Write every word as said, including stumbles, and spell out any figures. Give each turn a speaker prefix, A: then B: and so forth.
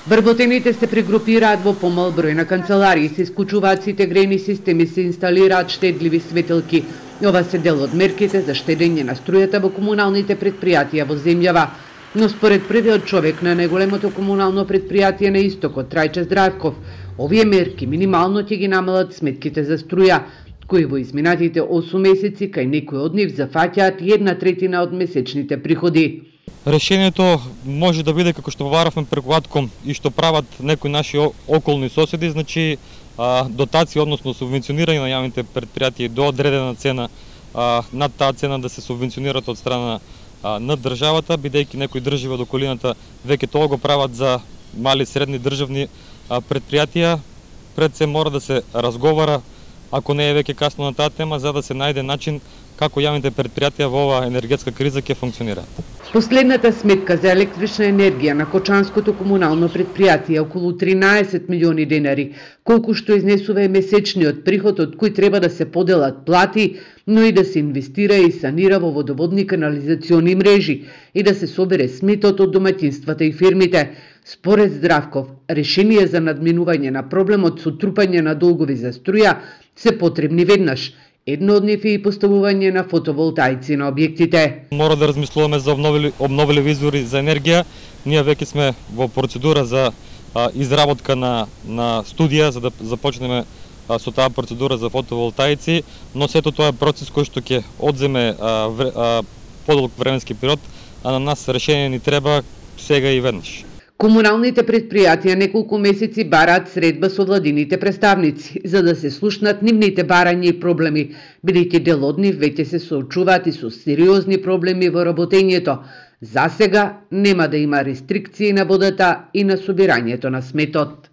A: Вработените се прегрупираат во помал број на канцеларии, се исклучуваат сите грејни системи, се инсталираат штедливи светилки. Ова се дел од мерките за штедење на струјата во комуналните предпријатија во земјава. Но според првиот човек на најголемото комунално предпријатие на истокот, Трајче Здравков, овие мерки минимално ќе ги намалат сметките за струја, кои во изминатите осум месеци кај некои од нив зафаќаат една третина од месечните приходи.
B: Решението може да биде како што побаравме преку Атком и што прават некои наши околни соседи, значи дотација, односно субвенционирање на јавните предпријатија до одредена цена, над таа цена да се субвенционират од страна на државата, бидејќи некои држави од околината веќе тоа го прават за мали средни државни предпријатија. Пред се мора да се разговара, ако не е веќе касно на таа тема, за да се најде начин како јавните предпријатија во оваа енергетска криза ќе функционираат.
A: Последната сметка за електрична енергија на Кочанското комунално предпријатие е околу тринаесет милиони денари, колку што изнесува е месечниот приход од кој треба да се поделат плати, но и да се инвестира и санира во водоводни канализациони мрежи и да се собере сметот од домаќинствата и фирмите. Според Здравков, решение за надминување на проблемот со трупање на долгови за струја се потребни веднаш. Едно од нив е и поставување на фотоволтаици на објектите.
B: Мора да размислуваме за обновили, обновливи извори за енергија. Ние веќе сме во процедура за а, изработка на, на студија, за да започнеме а, со таа процедура за фотоволтаици, но сето тоа е процес кој што ќе одземе а, вре, а, подолг временски период, а на нас решение ни треба сега и веднаш.
A: Комуналните предпријатија неколку месеци бараат средба со владините представници, за да се слушнат нивните барања и проблеми, бидејќи дел од нив веќе се соочуваат и со сериозни проблеми во работењето. За сега нема да има рестрикции на водата и на собирањето на сметот.